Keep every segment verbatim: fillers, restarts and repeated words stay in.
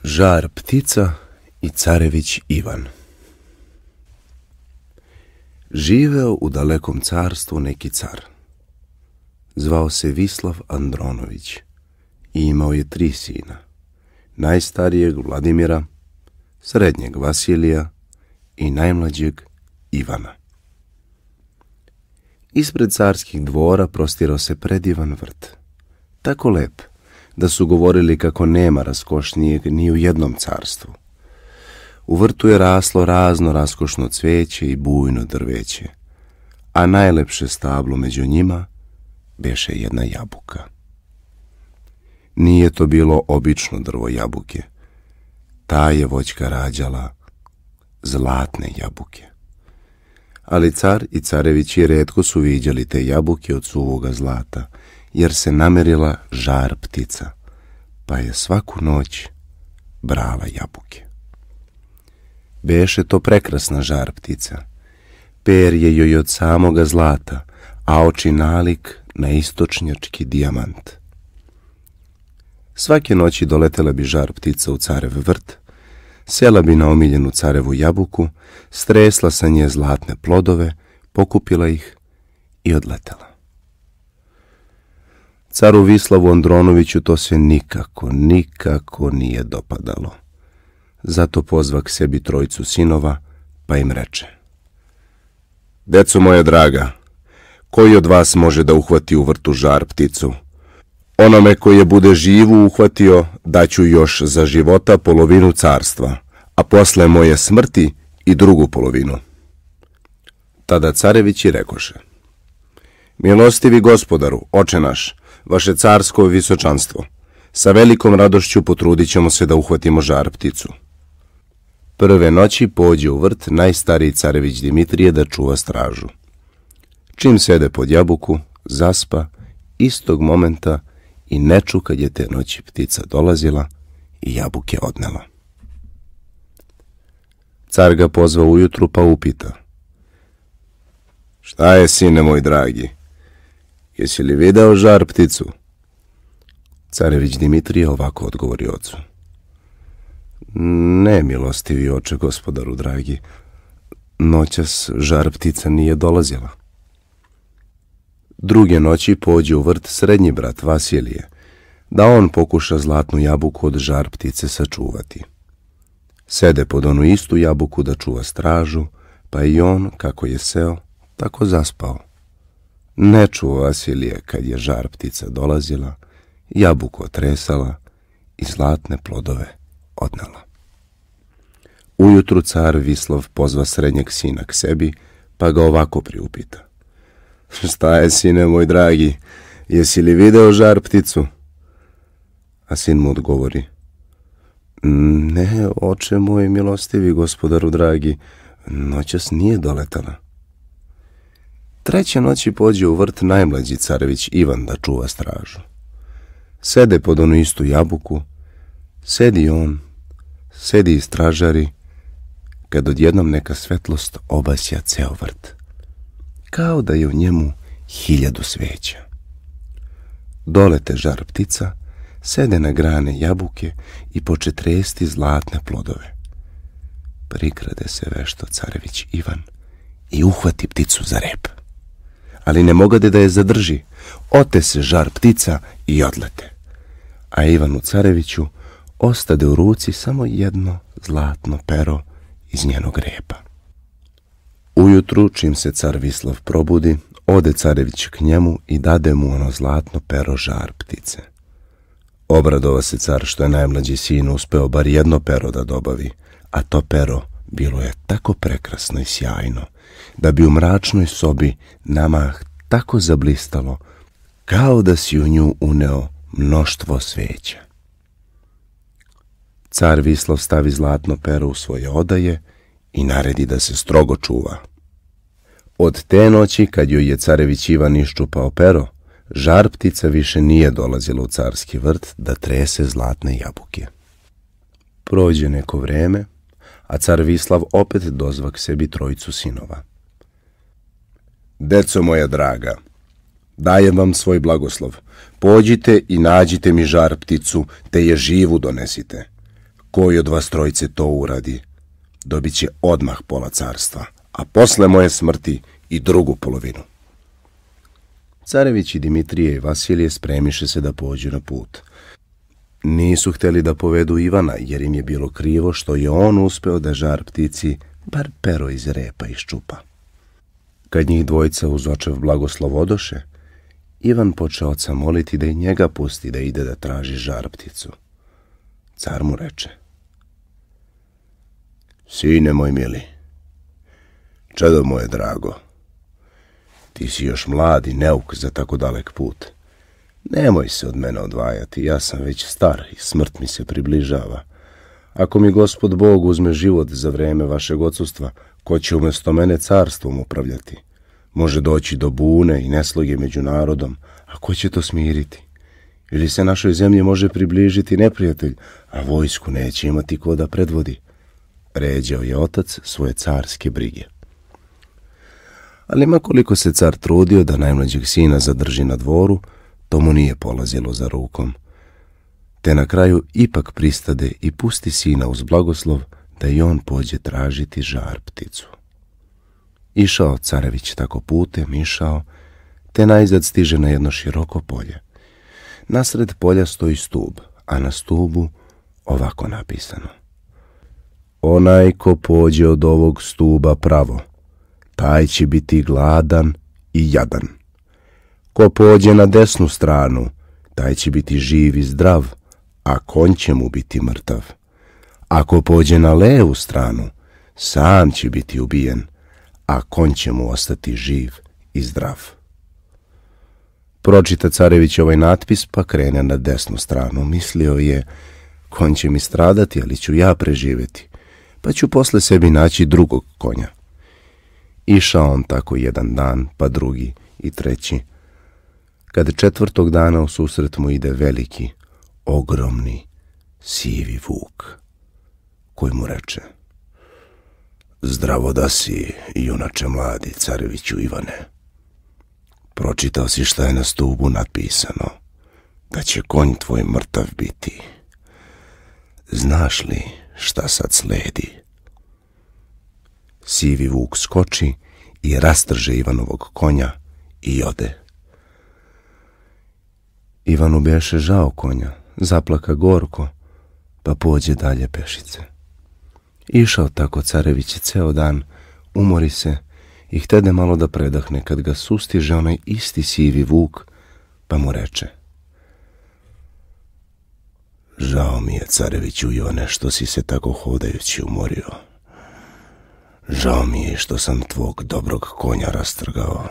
Žar ptica i carević Ivan. Živeo u dalekom carstvu neki car. Zvao se Vislav Andronović i imao je tri sina. Najstarijeg Vladimira, srednjeg Vasilija i najmlađeg Ivana. Ispred carskih dvora prostirao se predivan vrt, tako lep da su govorili kako nema raskošnijeg ni u jednom carstvu. U vrtu je raslo razno raskošno cveće i bujno drveće, a najlepše stablo među njima beše jedna jabuka. Nije to bilo obično drvo jabuke, ta je voćka rađala zlatne jabuke. Ali car i carevići rijetko su viđali te jabuke od suvoga zlata, jer se namerila žar ptica, pa je svaku noć brala jabuke. Beše to prekrasna žar ptica, per je joj od samoga zlata, a oči nalik na istočnjački dijamant. Svake noći doletela bi žar ptica u carev vrt, sela bi na omiljenu carevu jabuku, stresla sa nje zlatne plodove, pokupila ih i odletela. Caru Vislavu Andronoviću to se nikako, nikako nije dopadalo. Zato pozva k sebi trojicu sinova, pa im reče: Deco moja draga, koji od vas može da uhvati u vrtu žar pticu? Onome koji je bude živu uhvatio, daću još za života polovinu carstva, a posle moje smrti i drugu polovinu. Tada carevići rekoše: Milostivi gospodaru, oče naš, vaše carsko visočanstvo, sa velikom radošću potrudit ćemo se da uhvatimo žar pticu. Prve noći pođe u vrt najstariji carević Dimitrije da čuva stražu. Čim sede pod jabuku, zaspa istog momenta i ne ču kad je te noći ptica dolazila i jabuke odnela. Car ga pozva ujutru pa upita: Šta je, sine moj dragi? Jesi li video žar pticu? Carević Dimitrije ovako odgovori ocu: Ne, milostivi oče gospodaru dragi, noćas žar ptica nije dolazila. Druge noći pođe u vrt srednji brat Vasilije, da on pokuša zlatnu jabuku od žar ptice sačuvati. Sede pod onu istu jabuku da čuva stražu, pa i on, kako je seo, tako zaspao. Ne čuva Vasilije kad je žar ptica dolazila, jabuku otresala i zlatne plodove odnela. Ujutru car Vislav pozva srednjeg sina k sebi, pa ga ovako priupita: Šta je, sine moj dragi, jesi li video žar pticu? A sin mu odgovori: Ne, oče moj milostivi gospodaru dragi, noćas nije doletala. Treće noći pođe u vrt najmlađi carević Ivan da čuva stražu. Sede pod onu istu jabuku, sedi on, sedi i stražari, kad odjednom neka svetlost obasja ceo vrt, kao da je u njemu hiljadu sveća. Dolete žar ptica, sede na grane jabuke i poče tresti zlatne plodove. Prikrade se vešto carević Ivan i uhvati pticu za rep. Ali ne mogade da je zadrži, ote se žar ptica i odlete. A Ivanu careviću ostade u ruci samo jedno zlatno pero iz njenog repa. Ujutru, čim se car Vislav probudi, ode carević k njemu i dade mu ono zlatno pero žar ptice. Obradova se car što je najmlađi sin uspeo bar jedno pero da dobavi, a to pero bilo je tako prekrasno i sjajno, da bi u mračnoj sobi namah tako zablistalo, kao da si u nju uneo mnoštvo sveća. Car Vislav stavi zlatno pero u svoje odaje i naredi da se strogo čuva. Od te noći, kad joj je carević Ivan iščupao pero, žar ptica više nije dolazila u carski vrt da trese zlatne jabuke. Prođe neko vreme, a car Vislav opet dozva k sebi trojicu sinova. Deco moja draga, dajem vam svoj blagoslov. Pođite i nađite mi žar pticu, te je živu donesite. koji od vas trojice to uradi, dobit će odmah pola carstva, a posle moje smrti i drugu polovinu. Carević i Dimitrije i Vasilije spremiše se da pođu na put. Nisu htjeli da povedu Ivana, jer im je bilo krivo što je on uspeo da žar ptici bar pero iz repa iščupa. Kad njih dvojica uz očev blagoslov odoše, Ivan počeo oca moliti da i njega pusti da ide da traži žar pticu. Car mu reče: Sine moj mili, čedo moje drago, ti si još mlad i neuk za tako dalek put. Nemoj se od mene odvajati, ja sam već star i smrt mi se približava. Ako mi Gospod Bog uzme život za vreme vašeg odsustva, ko će umjesto mene carstvom upravljati? Može doći do bune i nesloge među narodom, a ko će to smiriti? Ili se našoj zemlji može približiti neprijatelj, a vojsku neće imati ko da predvodi? Ređao je otac svoje carske brige. Ali makoliko se car trudio da najmlađeg sina zadrži na dvoru, to mu nije polazilo za rukom. Te na kraju ipak pristade i pusti sina uz blagoslov da i on pođe tražiti žar pticu. Išao carević tako putem, išao, te najzad stiže na jedno široko polje. Nasred polja stoji stub, a na stubu ovako napisano: Onaj ko pođe od ovog stuba pravo, taj će biti gladan i jadan. Ko pođe na desnu stranu, taj će biti živ i zdrav, a konj će mu biti mrtav. Ako pođe na levu stranu, sam će biti ubijen, a konj će mu ostati živ i zdrav. Pročita carević ovaj natpis, pa krene na desnu stranu. Mislio je: konj će mi stradati, ali ću ja preživjeti, pa ću posle sebi naći drugog konja. Išao on tako jedan dan, pa drugi i treći. Kad četvrtog dana u susret mu ide veliki, ogromni, sivi vuk, koji mu reče: Zdravo da si, junače mladi, careviću Ivane. Pročitao si šta je na stubu napisano, da će konj tvoj mrtav biti. Znaš li šta sad sledi? Sivi vuk skoči i rastrže Ivanovog konja i ode. Ivanu beše žao konja, zaplaka gorko, pa pođe dalje pešice. Išao tako carević ceo dan, umori se i htede malo da predahne, kad ga sustiže onaj isti sivi vuk, pa mu reče: Žao mi je, careviću Ivane, što si se tako hodajući umorio. Žao mi je što sam tvog dobrog konja rastrgao.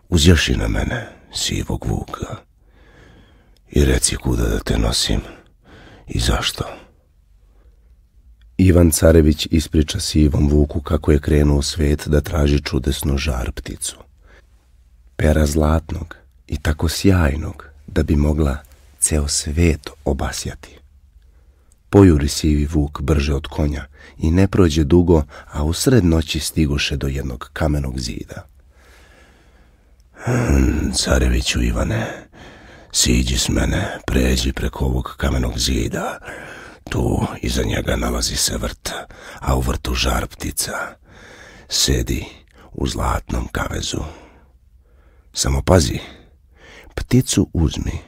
Uzjaši na mene, sivog vuka, i reci kuda da te nosim i zašto. Ivan carević ispriča sivom vuku kako je krenuo u svet da traži čudesnu žar pticu. Pera zlatnog i tako sjajnog da bi mogla ceo svet obasjati. Pojuri sivi vuk brže od konja i ne prođe dugo, a u sred noći stigoše do jednog kamenog zida. Hmm, careviću Ivane, siđi s mene, pređi preko ovog kamenog zida. Tu iza njega nalazi se vrt, a u vrtu žar ptica. Sedi u zlatnom kavezu. Samo pazi, pticu uzmi,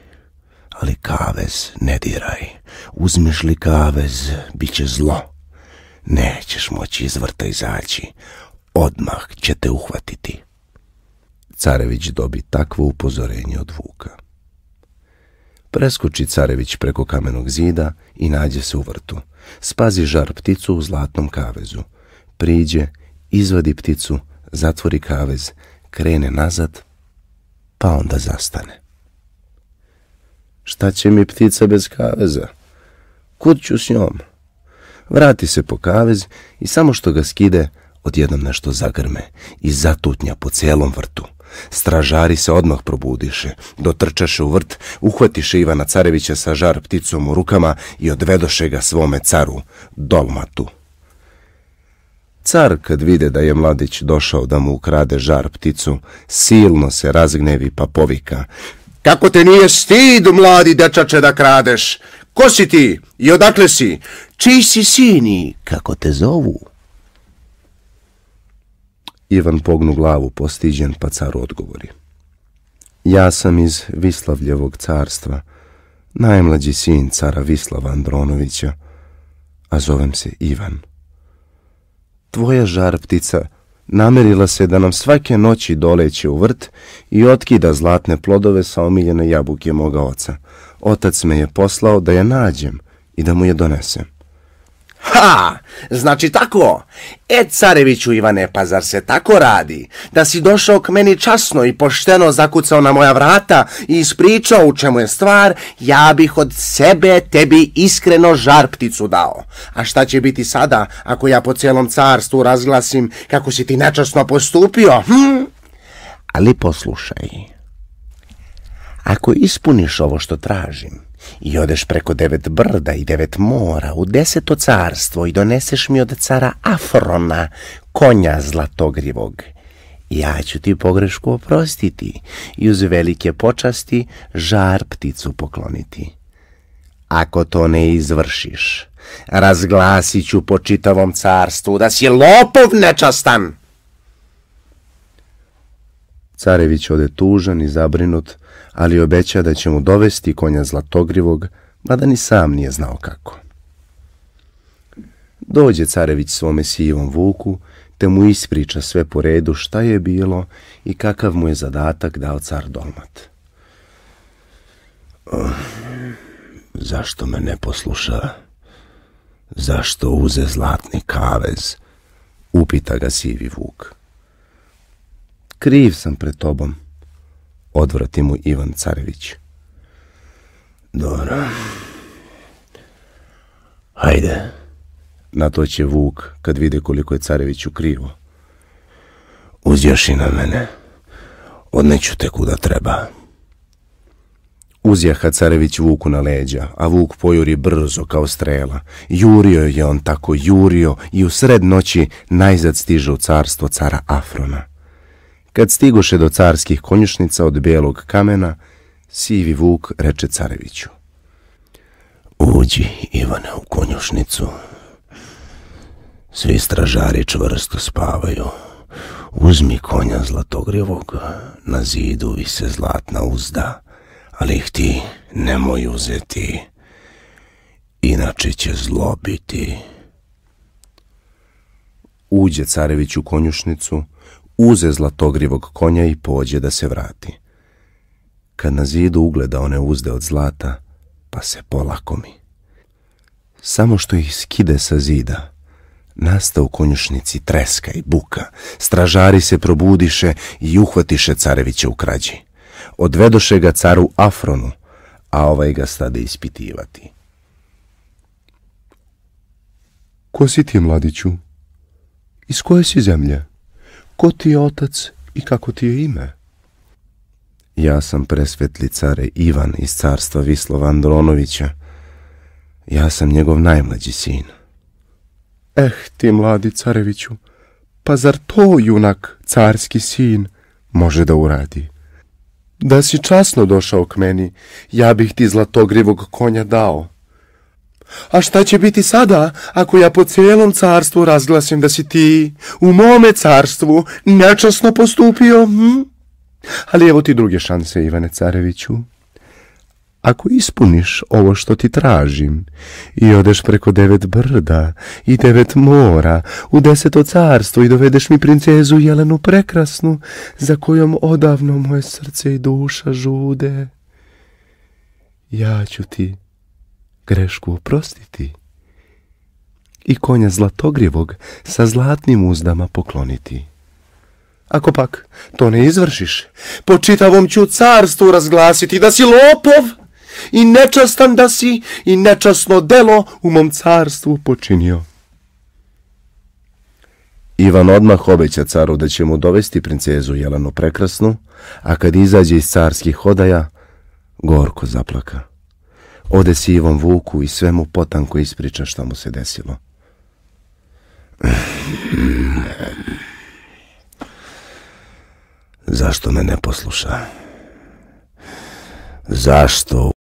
ali kavez ne diraj. Uzmiš li kavez, bit će zlo. Nećeš moći iz vrta izaći, odmah će te uhvatiti. Carević dobi takvo upozorenje od vuka. Preskoči carević preko kamenog zida i nađe se u vrtu. Spazi žar pticu u zlatnom kavezu. Priđe, izvadi pticu, zatvori kavez, krene nazad, pa onda zastane. Šta će mi ptica bez kaveza? Kud ću s njom? Vrati se po kavez i samo što ga skide, odjednom nešto zagrme i zatutnja po celom vrtu. Stražari se odmah probudiše, dotrčaše u vrt, uhvatiše Ivana carevića sa žar pticom u rukama i odvedoše ga svome caru, Dolmatu. Car, kad vide da je mladić došao da mu ukrade žar pticu, silno se razgnevi pa povika: Kako te nije stid, mladi dečače, da kradeš? Ko si ti i odakle si? Čiji si sin i kako te zovu? Ivan pognu glavu postiđen, pa caru odgovori. Ja sam iz Vislavljevog carstva, najmlađi sin cara Vislava Andronovića, a zovem se Ivan. Tvoja žar ptica namerila se da nam svake noći doleće u vrt i otkida zlatne plodove sa omiljene jabuke moga oca. Otac me je poslao da je nađem i da mu je donesem. Ha, znači tako? E, careviću Ivane, pa zar se tako radi? Da si došao k meni časno i pošteno zakucao na moja vrata i ispričao u čemu je stvar, ja bih od sebe tebi iskreno žar pticu dao. A šta će biti sada ako ja po cijelom carstvu razglasim kako si ti nečasno postupio? Hm? Ali poslušaj, ako ispuniš ovo što tražim i odeš preko devet brda i devet mora u deseto carstvo i doneseš mi od cara Afrona konja zlatogrivog, ja ću ti pogrešku oprostiti i uz velike počasti žar pticu pokloniti. Ako to ne izvršiš, razglasit ću po čitavom carstvu da si lopov nečastan. Carević ode tužan i zabrinut, ali obeća da će mu dovesti konja zlatogrivog, mada ni sam nije znao kako. Dođe carević svome sivom vuku, te mu ispriča sve po redu šta je bilo i kakav mu je zadatak dao car Dolmat. Oh, zašto me ne posluša? Zašto uze zlatni kavez? Upita ga sivi vuk. Kriv sam pred tobom, odvrati mu Ivan Carević. Dobro. Hajde. Na to će vuk kad vide koliko je Careviću krivo. Uzjaši na mene. Odneću te kuda treba. Uzjaha Carević vuku na leđa, a vuk pojuri brzo kao strela. Jurio je on tako, jurio i u sred noći najzad stiže u carstvo cara Afrona. Kad stigoše do carskih konjušnica od bijelog kamena, sivi vuk reče Careviću. Uđi, Ivane, u konjušnicu. Svi stražari čvrsto spavaju. Uzmi konja zlatogrivog, na zidu vise zlatna uzda, ali ih ti nemoj uzeti, inače će zlo biti. Uđe Carević u konjušnicu, uze zlatogrivog konja i pođe da se vrati. Kad na zidu ugleda one uzde od zlata, pa se polakomi. Samo što ih skide sa zida, nasta u konjušnici treska i buka. Stražari se probudiše i uhvatiše Carevića u krađi. Odvedoše ga caru Afronu, a ovaj ga stade ispitivati. Ko si ti, mladiću? Iz koje si zemlje? Ko ti je otac i kako ti je ime? Ja sam presvetli care Ivan iz carstva Vislava Andronovića. Ja sam njegov najmlađi sin. Eh, ti mladi Careviću, pa zar to junak, carski sin, može da uradi? Da si časno došao k meni, ja bih ti zlatogrivog konja dao. A šta će biti sada, ako ja po cijelom carstvu razglasim da si ti u mome carstvu nečasno postupio? Hm? Ali evo ti druge šanse, Ivane Careviću. Ako ispuniš ovo što ti tražim i odeš preko devet brda i devet mora u deseto carstvo i dovedeš mi princezu Jelenu prekrasnu, za kojom odavno moje srce i duša žude, ja ću ti grešku oprostiti i konja zlatogrivog sa zlatnim uzdama pokloniti. Ako pak to ne izvršiš, po čitavom ću carstvu razglasiti da si lopov i nečastan da si i nečasno delo u mom carstvu počinio. Ivan odmah obeća caru da će mu dovesti princezu Jelenu prekrasnu, a kad izađe iz carskih odaja, gorko zaplaka. Ode sivom vuku i sve mu potanko ispriča šta mu se desilo. Zašto me ne posluša? Zašto